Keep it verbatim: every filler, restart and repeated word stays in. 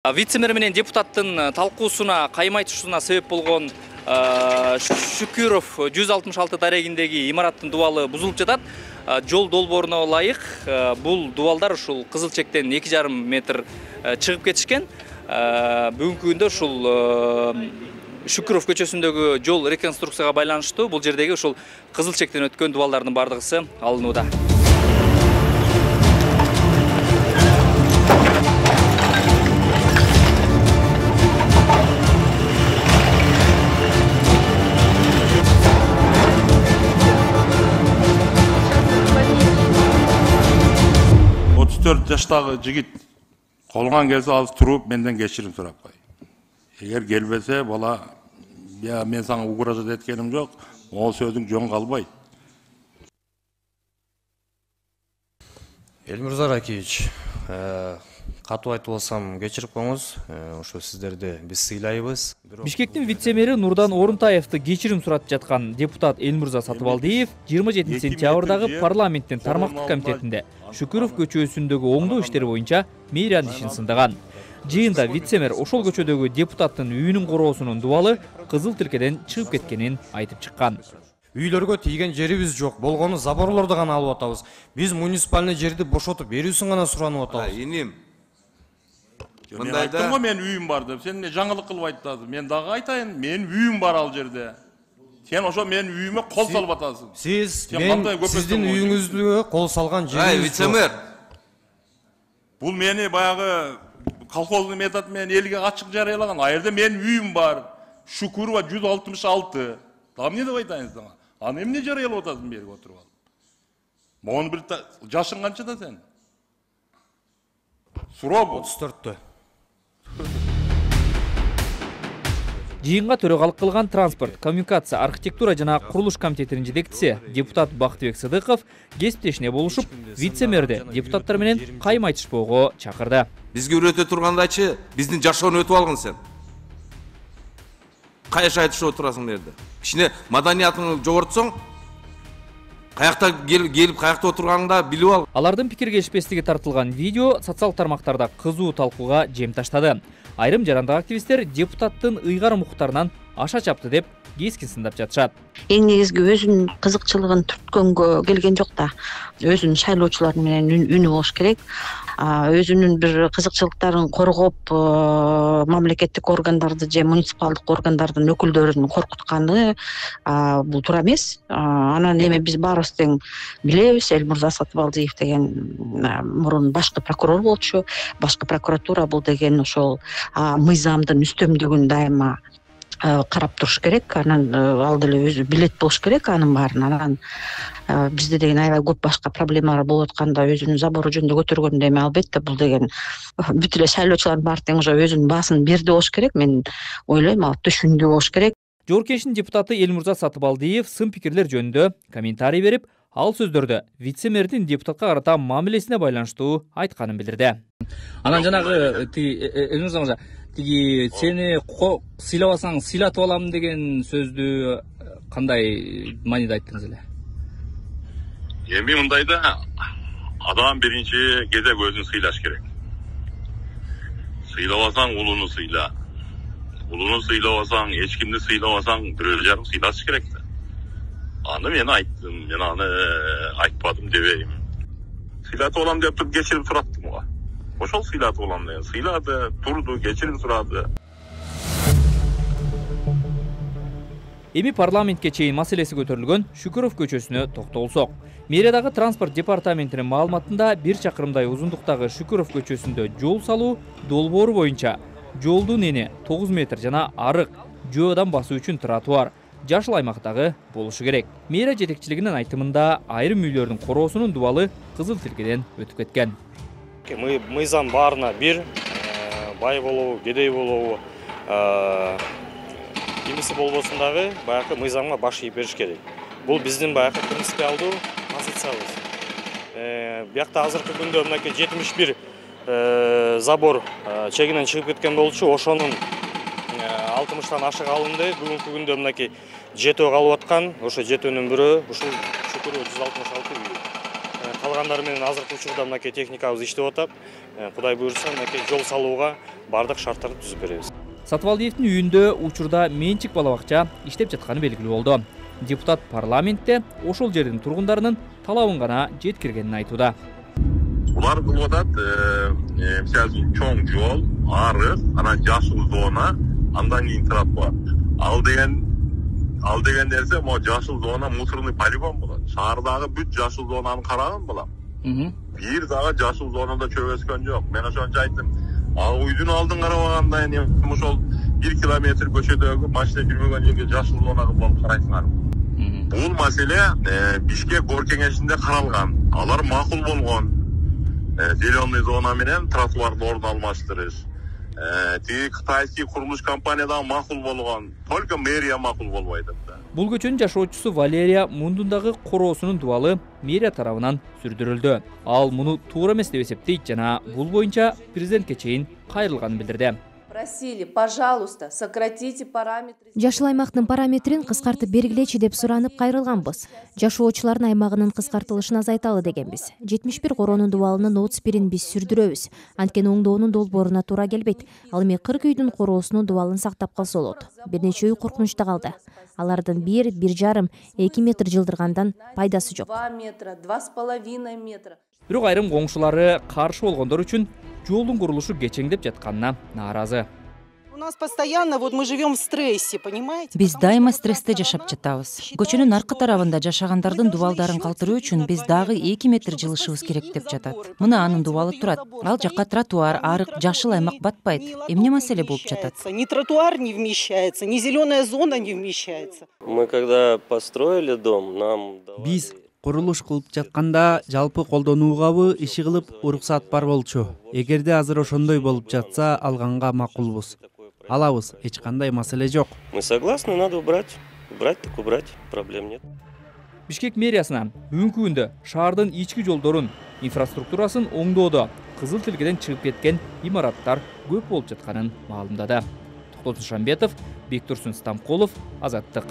Вице-мэр менен депутаттын талкуусуна кайма айтышуусуна себеп болгон Шүкүров жүз алтымыш алты дарегиндеги имараттын дубалы бузулуп жатат. Жол долбооруна ылайык бул дубалдар ушул кызыл чектен эки жарым метр чыгып кетишкен. Бүгүнкү күндө ушул Шүкүров көчөсүндөгү жол реконструкцияга байланыштуу бул жердеги ушул кызыл чектен өткөн дубалдардын бардыгысы алынууда. отуз төрт жаштагы жигит колуңан келсе алып туруп менден кечирим сурап кой. Эгер келбесе бала, я мен сага угроза эткеним жок, ол сөзүң жөн калбайт. Элмирза Ракиевич, катуу айтып алсам кечирип коюңуз. Ошо сиздерди биз сыйлайбыз. Бишкектин вице-мэри Нурдан Орунтаевди кечирим суратып жаткан депутат Элмирза Сатыбалдиев жыйырма жетинчи сентябрдагы парламенттин тармактык комитетинде Шүкүров көчөсүндөгү оңдоо иштери боюнча мэриянын ишин сындаган. Жыйында вице-мэр ошол көчөдөгү депутаттын үйүнүн короосунун дубалы кызыл тилкеден чыгып кеткенин айтып чыккан. Үйлөргө тийген жерибиз жок, болгону заборлорду гана алып атабыз. Биз муниципальный жерди бошотуп берүүсүн гана суранып атабыз. Иним. Мен айттым го мен үйүм бар деп. Сен эмне жаңылык кылып айтасың? Мен дагы айтайын, менин үйүм бар ал жерде. Сен ошо менин үйүмө кол салып атасың. Сиз мен сиздин үйүңүзгө кол салган жерибиз жок. Вице-мэр. Бул мени баягы колхоздун методу менен элге ачык жарыялаган. А жерде менин үйүм бар. Шүкүрова жүз алтымыш алты. Там эмне деп айтайын сага? Аны эмне жарыялап атасың берип отуруп алып? Могун бир жашың канча да сен? Суроо отуз төрттө. Жыйынга төрөгалык кылган транспорт, коммуникация, архитектура жана курулуш комитетинин жетекчиси депутат Бактыбек Сыдыков кесиптешине болушуп, вице-мэрди депутаттар менен кайма айтышпоого чакырды. Бизге үйрөтө тургандачы биздин жашоону өтүп алгын сен. Кайша айтышып отурасың жерде. Кичине маданиятыңды жогортсоң, каякта келип каякта отурганыңда билип ал. Алардын пикир келишпестиги тартылган видео социалдык тармактарда кызуу талкууга жем таштады. Айрым жарандык активисттер депутаттын ыйгарым укуктарынан аша чапты деп кескин сындап жатышат. Эң негизги өзүнүн кызыкчылыгын түрткөнгө келген жок да. Өзүнүн шайлоочулар менен үнү болуш керек. Өзүнүн бир кызыкчылыктарын коргоп, мамлекеттик органдарды же муниципалдык органдардын өкүлдөрүн коркутканы бул туура эмес. Анан эми биз баарыбыз тең билебиз, Элмирза Сатыбалдиев деген мурун башкы прокурор болчу. Башкы прокуратура бул деген ошол мыйзамдын үстөмдүгүн дайыма карап туруш керек. Анан ал деле өзү билет болуш керек анын баарын. Анан бизде деген аябай көп башка проблемалар болуп атканда өзүнүн забору жөнүндө көтөргөндө эми албетте бул деген бүт эле шайлоочулардын баары тең уже өзүнүн баасын берди болуш керек. Мен ойлойм, ал түшүндү болуш керек. Жогорку депутаты Элмирза Сатыбалдиев сын пикирлер жөнүндө комментарий берип, ал сөздөрдө вице-мэрдин депутатка карата мамилесине байланыштуу айтканын билдирди. Анан жанагы Элмирза мырза, тиги сени сыйлабасаң сыйлатып алам деген сөздү кандай мааниде айттыңыз эле? Эми мындайда адам биринчи кезек өзүн сыйлаш керек. Сыйлабасаң улууну сыйла. Улууну сыйлабасаң, эч кимди сыйлабасаң, бирөө жарым сыйлаш керек да. Аны мен айттым, мен аны айтпадым дебейм. Сыйлатып алам деп туруп кечирим сураттым го. Ошол сыйлатып алам деген. Сыйлады, турду, кечирим сурады. Эми парламентке чейин маселеси көтөрүлгөн Шүкүров көчөсүнө токтолсок. Мэриядагы транспорт департаментинин маалыматында бир чакырымдай узундуктагы Шүкүров көчөсүндө жол салуу долбоору боюнча жолдун эни тогуз метр жана арык жөөдөн басуу үчүн тротуар жашыл аймактагы болушу керек. Мэрия жетекчилигинин айтымында айрым үйлөрдүн короосунун дубалы кызыл тилкеден өтүп кеткен. Мыйзам баарына бир, бай болобу, кедей болобу, кимиси болбосун дагы баягы мыйзамга баш ийип бериш керек. Бул биздин баягы принципиалдуу позициябыз. Биякта азыркы күндө мынакей жетимиш бир забор чегинен чыгып кеткен болчу. Ошонун алтымыштан ашык алынды. Бүгүнкү күндө мынакей жетөө калып аткан. Ошо жетөөнүн бирөө ушул Шүкүров жүз алтымыш алты үй. калгандары менен азыркы учурда мынакей техникабыз иштеп атат. Кудай буйрса мынакей жол салууга бардык шарттарды түзүп беребиз. Сатыбалдиевдин үйүндө учурда менчик бала бакча иштеп жатканы белгилүү болду. Депутат парламентте ошол жердин тургундарынын талабын гана жеткиргенин айтууда. Булар кылып атат, мисалы үчүн чоң жол, арык, анан жашыл зона, андан кийин тротуар. Ал деген ал деген нерсе могу жашыл зона мусорный полигон болот. Шаардагы бүт жашыл зонаны караган балам. Бир дагы жашыл зонада чөп өскөн жок. Мен ошончо айттым. Ал үйдүн алдын карабаганда эми ошол бир километр көчөдөгү машина жүрбөгөн жерге жашыл зона болуп карайсыңар. Бул маселе Бишкек оор кеңешинде каралган. Алар макул болгон. Зеленый зона менен тротуарды ордун алмаштырыш. Тиги кытайский курулуш компания дагы макул болгон. Только мэрия макул болбойт да. Бул көчөнүн жашоочусу Валерия мундундагы короосунун дубалы мэрия тарабынан сүрдүрүлдү. Ал муну туура эмес деп эсептейт жана бул боюнча президентке чейин кайрылганын билдирди. Просили, пожалуйста, сократите параметры. Жашыл аймактын параметрин кыскартып бергилечи деп суранып кайрылганбыз. Жашоочулардын аймагынын кыскартылышын азайталы дегенбиз. жетимиш бир короонун дубалынын отуз бирин биз сүрдүрөбүз. Анткени оңдоонун долбооруна туура келбейт. Ал эми кырк үйдүн короосунун дубалын сактап калса болот. Бир нече үй коркунучта калды. Алардын бир, бир жарым, эки метр жылдыргандан пайдасы жок. два метра, два с половиной метра. Бирок айрым коңшулары каршы болгондор үчүн жолдун курулушу кечеңдеп жатканына нааразы. У нас постоянно вот мы живем в стрессе, понимаете? Биз дайыма стрессте жашап жатабыз. Көчөнүн аркы тарабында жашагандардын дубалдарын калтыруу үчүн биз дагы эки метр жылышыбыз керек деп жатат. Мына анын дубалы турат. Ал жакка тротуар, арык, жашыл аймак батпайт. Эмне маселе болуп жатат? Ни тротуар не вмещается, ни зеленая зона не вмещается. Мы когда построили дом, нам Биз курулуш кылып жатканда жалпы колдонуугабы иши кылып уруксат бар болчу. Эгерде азыр ошондой болуп жатса, алганга макулбуз. Алабыз, эч кандай маселе жок. Мы согласны, надо убрать. Убрать так убрать, проблем нет. Бишкек мэриясынан бүгүнкү күндө шаардын ички жолдорун, инфраструктурасын оңдоодо кызыл тилгеден чыгып кеткен имараттар көп болуп жатканын маалымдады. Токтол Шамбетов, Бектурсун Стамкулов, Азаттык.